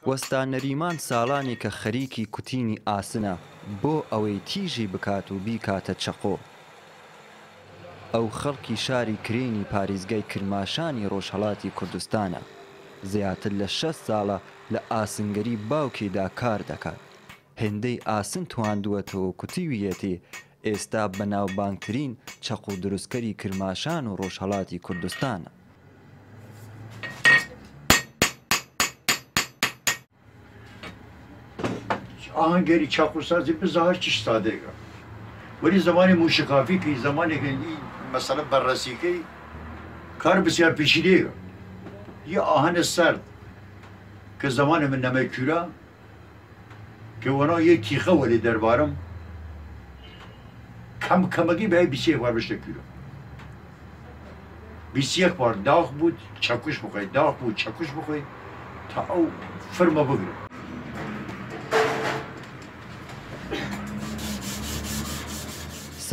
وەستا نەریمان ساڵانێکە خەریکی کوتینی ئاسنە بۆ ئەوەی تیژی بکات و بیکاتە چەقۆ. ئەو خەڵکی شاری کرێنی پاریزگای کرماشانی ڕۆژهەڵاتی کوردستانە. زیاتر لە 60 ساڵە لە ئاسنگەری باوکیدا کار دەکات. هێندەی ئاسن تواندووەتەوە و کوتیویەتی، ئێستا بەناوبانگترین چەقۆ دروستکەری کرماشان و ڕۆژهەڵاتی کوردستانە. ئاهەنگەری چەقۆسازی بزاهر چ سادەیە وەلی زمانی موشکافی کەی زمانێک مەسەلە بەڕەسیکەی کار بسیار پیچیدەیە یە ئاهەنە سەرد کە زمانی من نەمەی کورە کە وەنا یە تیخە وەلی دەربارم کەم کەمەگی بای 21 بار بشتە کورە 21 بار داخ بود چەکوش بخۆی داخ بوو چەکوش بخۆی تا ئەو فرمە بگرە.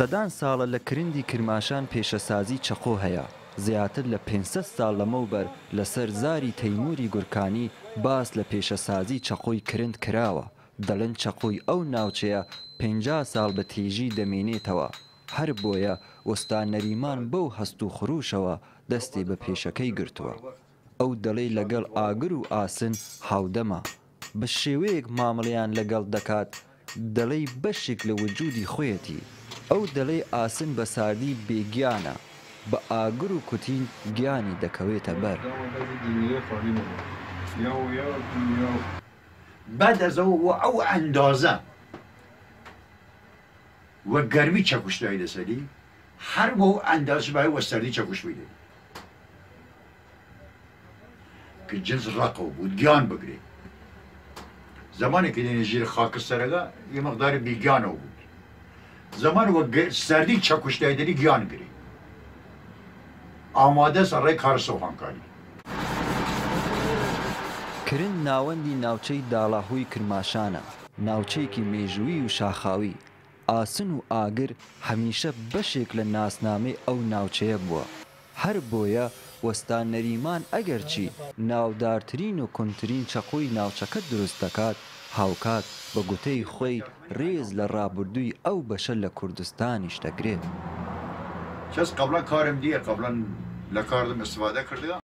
سەدان ساڵە لە کرندی کرماشان پێشەسازی چەقۆ هەیە، زیاتر لە 500 ساڵ لەمەوبەر لەسەر زاری تەیمووری گورکانی باس لە پێشەسازی چەقۆی کرند کراوە، دەڵێن چەقۆی ئەو ناوچەیە 50 ساڵ بە تیژی دەمێنێتەوە، هەر بۆیە وەستا نەریمان بەو هەست و خروشەوە دەستی بە پێشەکەی گرتووە. ئەو دەڵێ لەگەڵ ئاگر و ئاسن هاودەمە، بە شێوەیەک مامەڵەیان لەگەڵ دەکات دەڵێی بەشێک لە وجودی خۆیەتی. ئەو دەڵێ ئاسن بە ساردی بێ گیانە، بە ئاگر و کوتین گیانی دەکەوێتە بەر. بعد از ئەوە ئەو ئەندازە وە گەرمی چەکوش دای لەسەری هەر وەو ئەندازە بای وە سەردی چەکوش بیدەی کە جنس ڕەقەو بوو گیان بگرێ زمانێک کە دێنە ژێر خاکستەرەکە یە مقداری بیگیانەوە بوو زمان وە سەردی چەکوش دای دەری گیان گرێ ئامادەس ڕێ کار سۆهانکاری. کرند ناوەندی ناوچەی داڵاهووی کرماشانە، ناوچەیەکی مێژوویی و شاخاوی، ئاسن و ئاگر هەمیشە بەشێک لە ناسنامەی ئەو ناوچەیە بووە، هەر بۆیە وەستا نەریمان ئەگەرچی ناودارترین و کونترین چەقۆی ناوچەکە دروست دەکات، هاوکات بە گوتەی خۆی رێز لە رابردووی ئەو بەشە لە کوردستانیش دەگرێت. کەس قبلا کارم دیە قبلا لە کاردم استفاده کردگە.